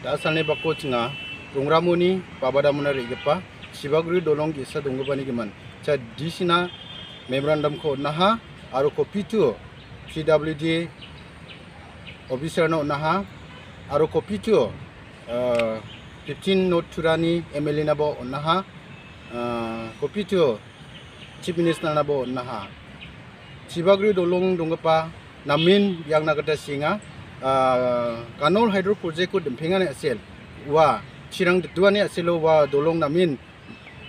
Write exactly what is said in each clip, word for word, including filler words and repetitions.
Asalni bako chinga Rongramoni Babadamona re·gipa Chibagri dolong ge·sa donggipani gimin. Cha D C-na memorandum-ko on·aha aro copy to P W D officer-na on·aha aro copy to, ah, fifteen North Turani M L A-naba on·aha, ah, copy to Chief Minister-naba on·aha. Chibagri dolong donggipa namen biangna gita sienga. Ah, Kanol Hydro Project-ko dimpengani a·sel, ua chirang dituani a·selo ua dolong namen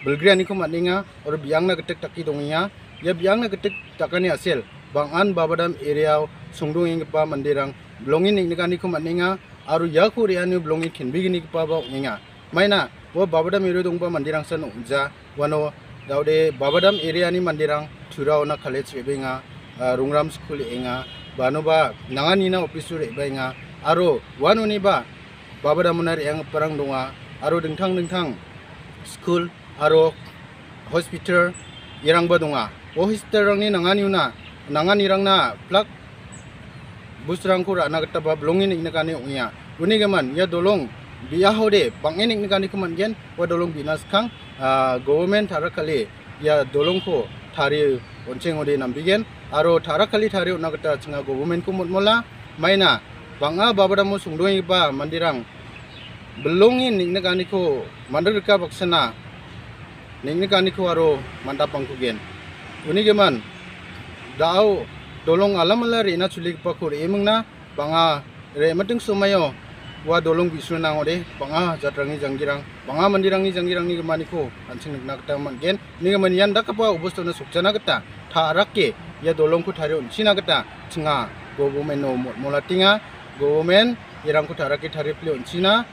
bilgrianiko man·enga aro biangna gitik dake dongenga. Ia biangna gitik dakani a·sel bang·an Babadam area-o songdongenggipa manderang bilonge neng·nikaniko man·enga aro iako re·anio bilonge kenbeginigipaba ong·enga. Maina ua Babadam area-o donggipa manderangsan ong·ja, uano daode Babadam area-ni manderang Turaona college re·baenga, ah, Rongram school re·enga, banoba nanganina office-o re·baenga aro uanoniba Babadamona re·anggiparang donga aro dingtang dingtang school aro hospital irangba donga. O hospital-rangni nanganiona, nanganirangna plak bus-rangko ra·na gitaba bilonge neng·nikani ong·enga. Uni gimin ia dolong bi·ahode bang·e neng·nikaniko man·gen, ua dolong bi·na skang, ah, government tara kale ia dolongko tarie on·chengode nambigen aro tara kale tarie on·na gita chinga government-ko motmola. Maina bang·a Babadamo songdoenggipa manderang bilonge neng·nikaniko mandalrika baksana neng·nikaniko aro mandapangkugen. Uni gimin da·o dolong alamala re·na choligipako re·emingna bang·a re·miting somaio ua dolong bi·srona ong·ode bang·a jatrangni janggirang, bang·a manderangni janggirangni gimaniko an·ching nikna gita man·gen. Uni gimin ian dakgipa obostano sokjana gita ta·rake ia dolongko tarie on·china gita chinga government-o motmolatenga. Government irangko ta·rake tarie pile on·china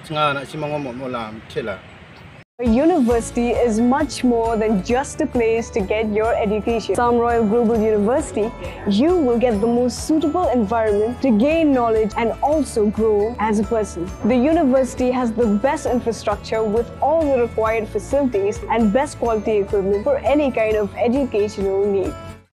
chinga na·simango motmola mitela. A university is much more than just a place to get your education. Sam Royal Global University, you will get the most suitable environment to gain knowledge and also grow as a person. The university has the best infrastructure with all the required facilities and best quality equipment for any kind of educational need.